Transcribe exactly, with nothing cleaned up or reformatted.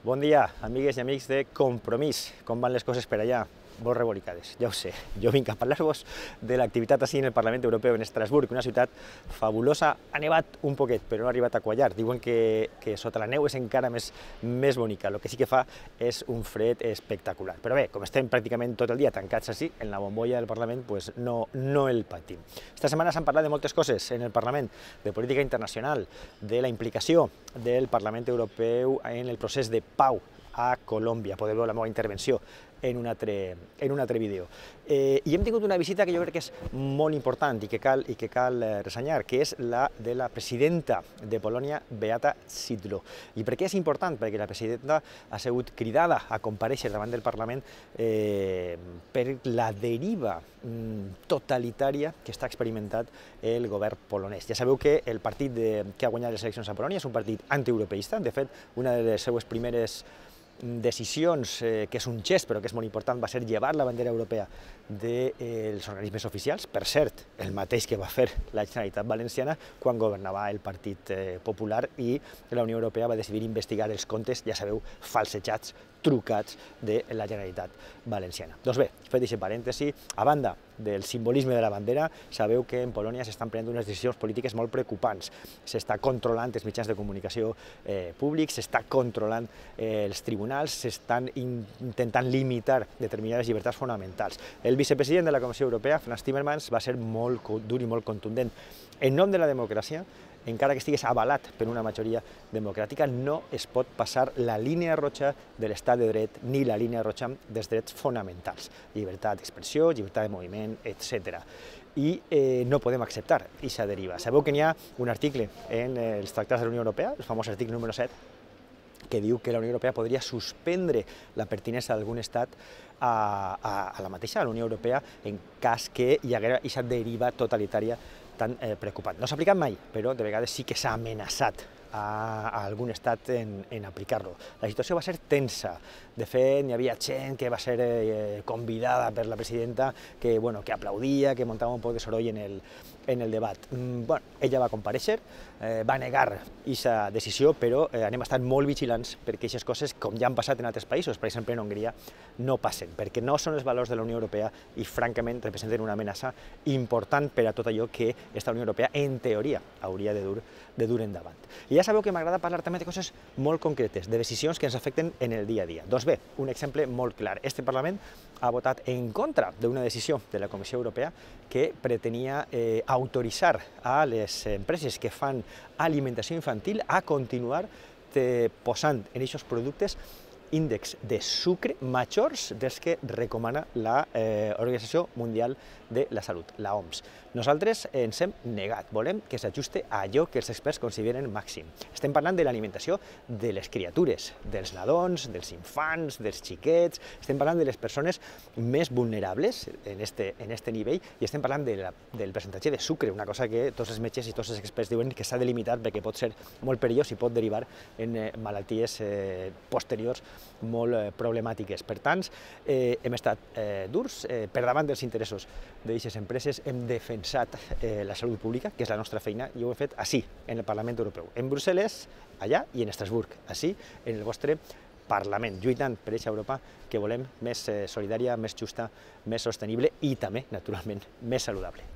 Bon dia, amigues i amics de Compromís. Com van les coses per allà? Molt rebolicades, ja ho sé. Jo vinc a parlar-vos de l'activitat així en el Parlament Europeu en Estrasburg, una ciutat fabulosa. Ha nevat un poquet, però no ha arribat a quallar. Diuen que, que sota la neu és encara més, més bonica. El que sí que fa és un fred espectacular. Però bé, com estem pràcticament tot el dia tancats així, en la bombolla del Parlament, pues no, no el patim. Esta setmana s'han parlat de moltes coses en el Parlament, de política internacional, de la implicació del Parlament Europeu en el procés de pau a Colòmbia. Podeu veure la meva intervenció en un altre, en un altre vídeo. Eh, I hem tingut una visita que jo crec que és molt important i que cal, i que cal eh, ressenyar, que és la de la presidenta de Polònia, Beata Szydło. I per què és important? Perquè la presidenta ha sigut cridada a comparèixer davant del Parlament eh, per la deriva mm, totalitària que està experimentat el govern polonès. Ja sabeu que el partit de, que ha guanyat les eleccions a Polònia és un partit antieuropeista. De fet, una de les seues primeres decisions, eh, que és un gest però que és molt important, va ser llevar la bandera europea dels eh, organismes oficials, per cert, el mateix que va fer la Generalitat Valenciana quan governava el Partit eh, Popular, i la Unió Europea va decidir investigar els comptes, ja sabeu, falsejats, trucats de la Generalitat Valenciana. Doncs bé, fet aquest parèntesi, a banda del simbolisme de la bandera, sabeu que en Polònia s'estan prenent unes decisions polítiques molt preocupants. S'està controlant els mitjans de comunicació eh, públics, s'està controlant eh, els tribunals, s'estan in intentant limitar determinades llibertats fonamentals. El vicepresident de la Comissió Europea, Frans Timmermans, va ser molt dur i molt contundent. En nom de la democràcia, encara que estigués avalat per una majoria democràtica, no es pot passar la línia roja de l'estat de dret ni la línia roja dels drets fonamentals. Llibertat d'expressió, llibertat de moviment, etcètera. I eh, no podem acceptar aquesta deriva. Sabeu que n'hi ha un article en els tractats de la Unió Europea, el famós article número set, que diu que la Unió Europea podria suspendre la pertinença d'algun estat a, a, a la mateixa, a la Unió Europea, en cas que hi haguera aquesta deriva totalitària tan eh, preocupant. No s'ha aplicat mai, però de vegades sí que s'ha amenaçat a, a algun estat en, en aplicar-lo. La situació va ser tensa. De fet, n'hi havia gent que va ser eh, convidada per la presidenta, que, bueno, que aplaudia, que muntava un poc de soroll en el, en el debat. Mm, bueno, ella va comparèixer, eh, va negar aquesta decisió, però eh, anem a estar molt vigilants perquè aquestes coses, com ja han passat en altres països, per exemple en Hongria, no passen, perquè no són els valors de la Unió Europea i, francament, representen una amenaça important per a tot allò que esta Unió Europea, en teoria, hauria de dur, de dur endavant. I ja sabeu que m'agrada parlar també de coses molt concretes, de decisions que ens afecten en el dia a dia. Doncs bé, un exemple molt clar. Este Parlament ha votat en contra d'una decisió de la Comissió Europea que pretenia eh, autoritzar a les empreses que fan alimentació infantil a continuar eh, posant en aquests productes índexs de sucre majors dels que recomana la eh, Organització Mundial de la Salut, la O M S. Nosaltres ens hem negat, volem que s'ajuste a allò que els experts consideren màxim. Estem parlant de l'alimentació de les criatures, dels nadons, dels infants, dels xiquets, estem parlant de les persones més vulnerables en este, en este nivell, i estem parlant de la, del percentatge de sucre, una cosa que tots els metges i tots els experts diuen que s'ha de limitar perquè pot ser molt perillós i pot derivar en eh, malalties eh, posteriors molt eh, problemàtiques. Per tant, eh, hem estat eh, durs, eh, per davant dels interessos d'aquestes empreses, hem defensat eh, la salut pública, que és la nostra feina, i ho hem fet així, en el Parlament Europeu, en Brussel·les, allà, i en Estrasburg, així, en el vostre Parlament, lluitant per aquesta Europa que volem més eh, solidària, més justa, més sostenible i també, naturalment, més saludable.